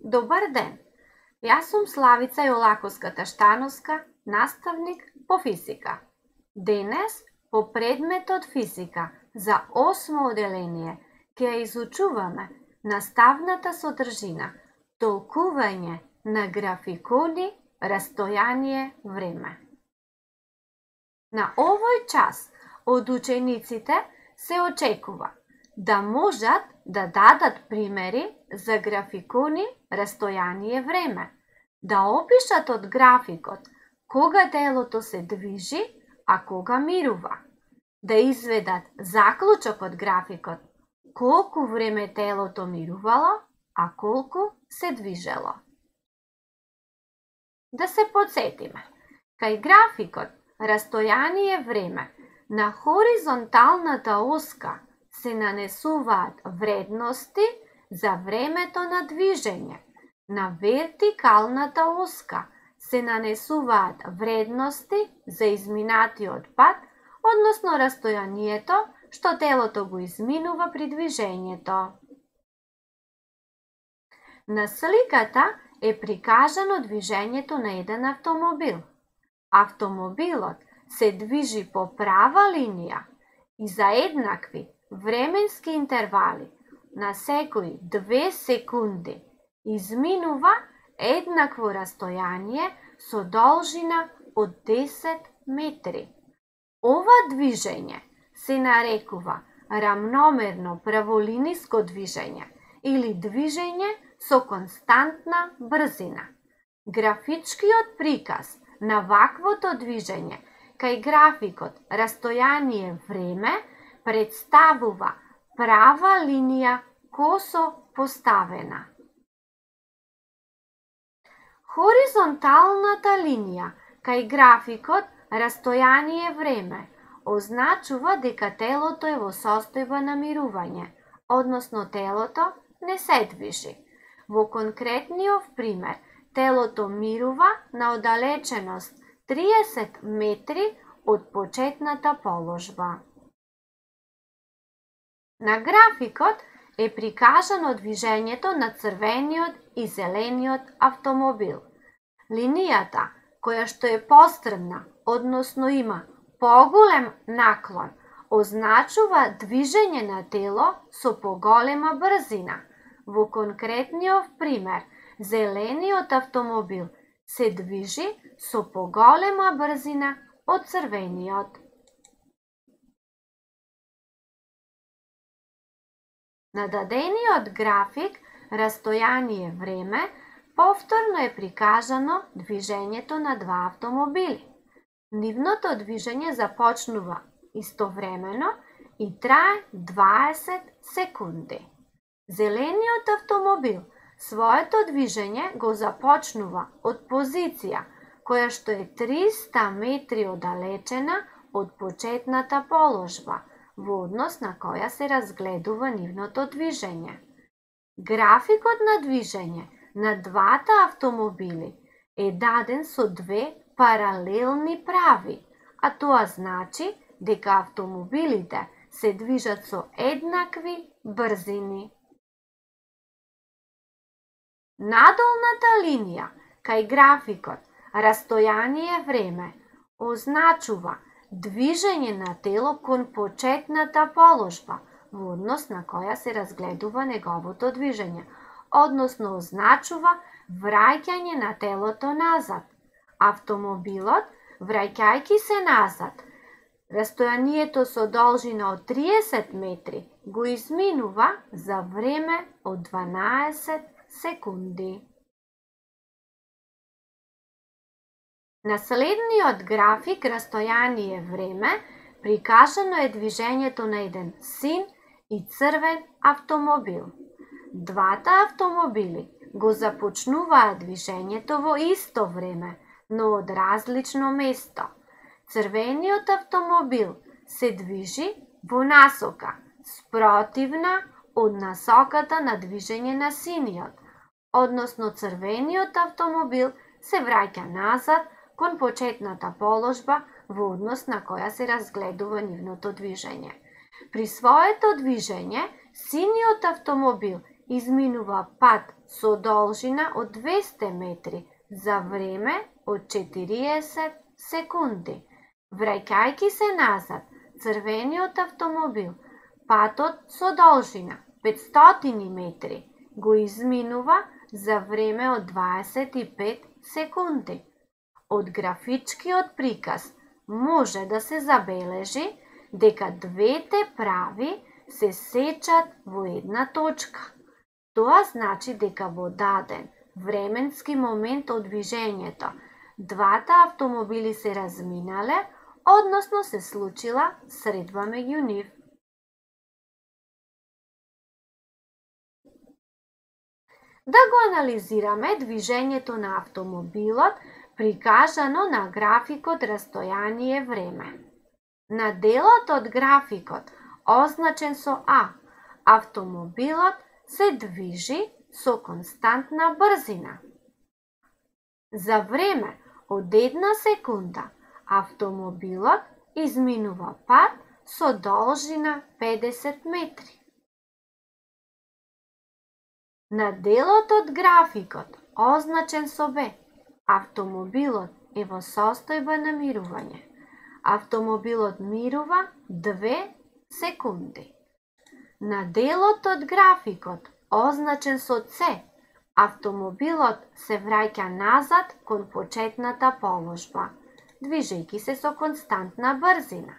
Добар ден! Јас сум Славица Јолаковска-Таштановска, наставник по физика. Денес, по предметот физика за 8 оделение, ќе ја изучуваме наставната содржина, толкување на графикони, растојание, време. На овој час од учениците се очекува да можат да дадат примери за графикони, растојание, време, да опишат од графикот кога телото се движи, а кога мирува, да изведат заклучок од графикот колку време телото мирувало, а колку се движело. Да се подсетиме, кај графикот растојание време на хоризонталната оска се нанесуваат вредности за времето на движење. На вертикалната оска се нанесуваат вредности за изминатиот пат, односно растојанието што телото го изминува при движењето. На сликата е прикажано движењето на еден автомобил. Автомобилот се движи по права линија и за еднакви временски интервали на секои 2 секунди изминува еднакво растојание со должина од 10 метри. Ова движење се нарекува рамномерно праволиниско движење или движење со константна брзина. Графичкиот приказ на ваквото движење кај графикот растојание време представува права линија косо поставена. Хоризонталната линија кај графикот растојание време означува дека телото е во состојба на мирување, односно телото не се движи. Во конкретниот пример, телото мирува на оддалеченост 30 метри од почетната положба. На графикот е прикажано движењето на црвениот и зелениот автомобил. Линијата, која што е пострмна, односно има поголем наклон, означува движење на тело со поголема брзина. Во конкретниот пример, зелениот автомобил се движи со поголема брзина од црвениот. На дадениот график растојание време повторно е прикажано движењето на 2 автомобили. Нивното движење започнува истовремено и трае 20 секунди. Зелениот автомобил своето движење го започнува од позиција која што е 300 метри оддалечена од почетната положба, во однос на која се разгледува нивното движење. Графикот на движење на двата автомобили е даден со 2 паралелни прави, а тоа значи дека автомобилите се движат со еднакви брзини. Надолната линија кај графикот растојание време означува движење на тело кон почетната положба, во однос на која се разгледува неговото движење, односно означува враќање на телото назад. Автомобилот, враќајќи се назад, растојанието со должина од 30 метри го изминува за време од 12 секунди. На следниот график растојание време прикажано е движењето на еден син и црвен автомобил. Двата автомобили го започнуваат движењето во исто време, но од различно место. Црвениот автомобил се движи во насока спротивна од насоката на движење на синиот, односно црвениот автомобил се враќа назад кон почетната положба во однос на која се разгледува нивното движење. При своето движење, синиот автомобил изминува пат со должина од 200 метри за време од 40 секунди. Враќајќи се назад, црвениот автомобил патот со должина 500 метри го изминува за време од 25 секунди. Од графичкиот приказ може да се забележи дека двете прави се сечат во една точка. Тоа значи дека во даден временски момент од движењето, двата автомобили се разминале, односно се случила средба меѓу нив. Да го анализираме движењето на автомобилот прикажано на графикот растојание време. На делот од графикот, означен со А, автомобилот се движи со константна брзина. За време од 1 секунда, автомобилот изминува пат со должина 50 метри. На делот од графикот, означен со Б, автомобилот е во состојба на мирување. Автомобилот мирува 2 секунди. На делот од графикот, означен со С, автомобилот се враќа назад кон почетната положба, движејќи се со константна брзина.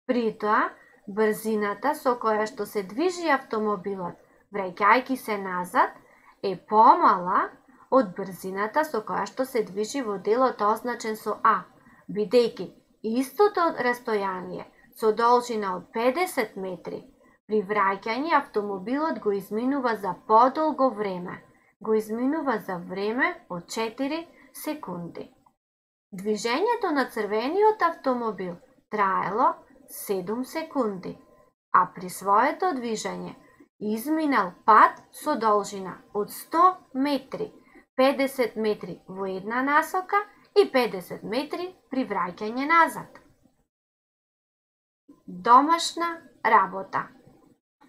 При тоа, брзината со која што се движи автомобилот, враќајќи се назад, е помала од брзината со која што се движи во делот означен со А, бидејќи истото растојание со должина од 50 метри, при враќање автомобилот го изминува за подолго време, го изминува за време од 4 секунди. Движењето на црвениот автомобил траело 7 секунди, а при своето движење изминал пат со должина од 100 метри, 50 метри во една насока и 50 метри при враќање назад. Домашна работа.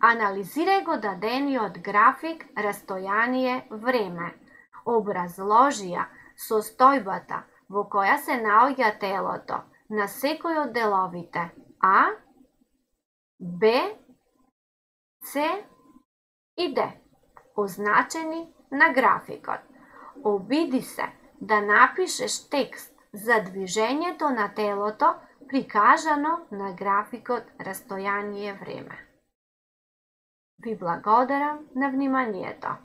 Анализирај го дадениот график растојание време. Образложи ја состојбата во која се наоѓа телото на секој од деловите А, Б, С и Д, означени на графикот. Обиди се да напишеш текст за движењето на телото прикажано на графикот растојание време. Ви благодарам на вниманието.